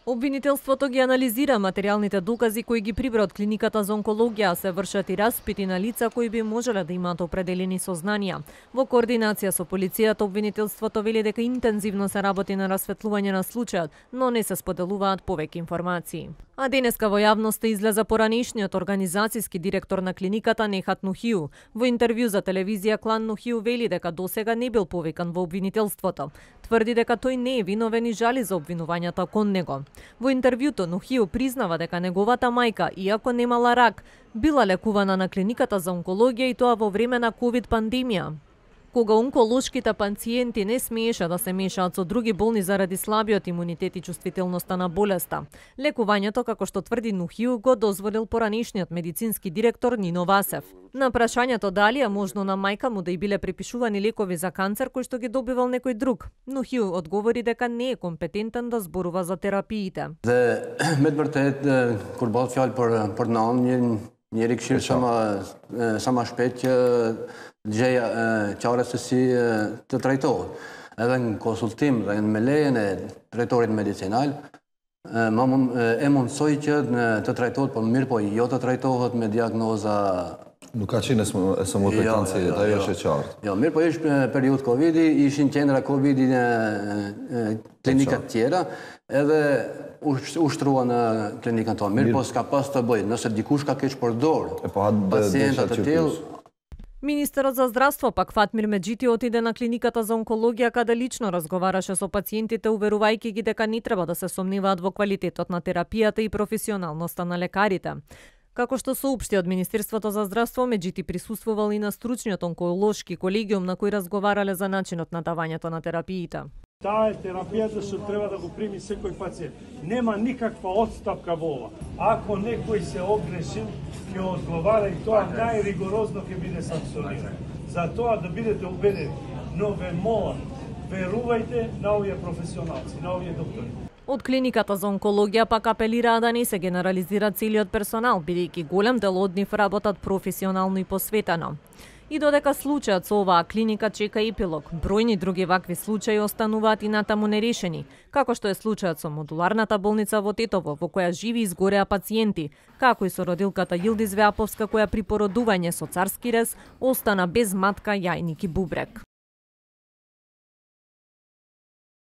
Обвинителството ги анализира материјалните докази кои ги прибра од клиниката за онкологија, се вршат и распити на лица кои би можеле да имаат определени сознанија. Во координација со полицијата, обвинителството вели дека интензивно се работи на расветлување на случајот, но не се споделуваат повеќе информации. А денеска во јавноста излеза поранешниот организацијски директор на клиниката Нехат Нухиу. Во интервју за телевизија Клан Нухиу вели дека досега не бил повикан во обвинителството. Тврди дека тој не е виновен и жали за обвинувањата кон него. Во интервјуто Нухиу признава дека неговата мајка, иако немала рак, била лекувана на клиниката за онкологија и тоа во време на ковид пандемија, кога онколошките пациенти не смееше да се мешаат со други болни заради слабиот имунитет и чувствителноста на болеста. Лекувањето, како што тврди Нухиу, го дозволил поранешниот медицински директор Нино Васев. На прашањето дали е можно на мајка му да и биле припишувани лекови за канцер кои што ги добивал некој друг, Нухиу одговори дека не е компетентен да зборува за терапиите. Met vërtet kur bëhet fjalë për nënë, njeri këshill sa më shpejt që gjëja qartë se si të trajtohet. Edhe në konsultim dhe me lejen e drejtorit medicinal, e mundsoj që të trajtohet, po mirë po jo të trajtohet me diagnoza. Nuk ka qenë e së mund për kancerit, ajo është e qartë. Jo, mirë po ishë periud Covid-i, ishin qendra Covid-i në klinikat tjera, edhe ushtrua në klinikën tonë. Mirë po s'ka pas të bëjë, nëse dikush ka keq përdor pacientat të tillë. Министерот за здравство пак Фатмир Меджити отиде на клиниката за онкологија каде лично разговараше со пациентите, уверувајќи ги дека не треба да се сомневаат во квалитетот на терапијата и професионалноста на лекарите. Како што соопшти од Министерството за здравство, Меджити присуствувал и на стручниот онколошки колегиум на кој разговарале за начинот на давањето на терапиите. Таа е терапијата што треба да го прими секој пациент. Нема никаква отстапка во ова. Ако некој се огрешил, ќе одговара и тоа најригорозно ќе биде санкционирано. За тоа да бидете убедени, но ве молам, верувајте на овие професионалци, на овие доктори. Од клиниката за онкологија пак апелираа да не се генерализира целиот персонал, бидејќи голем дел од нив работат професионално и посветено. И додека случајот со оваа клиника чека епилог, бројни други вакви случаи остануваат и натаму нерешени, како што е случајот со модуларната болница во Тетово, во која живи изгореа пациенти, како и со родилката Јилдиз Веаповска, која при породување со царски рез остана без матка, јајник и бубрек.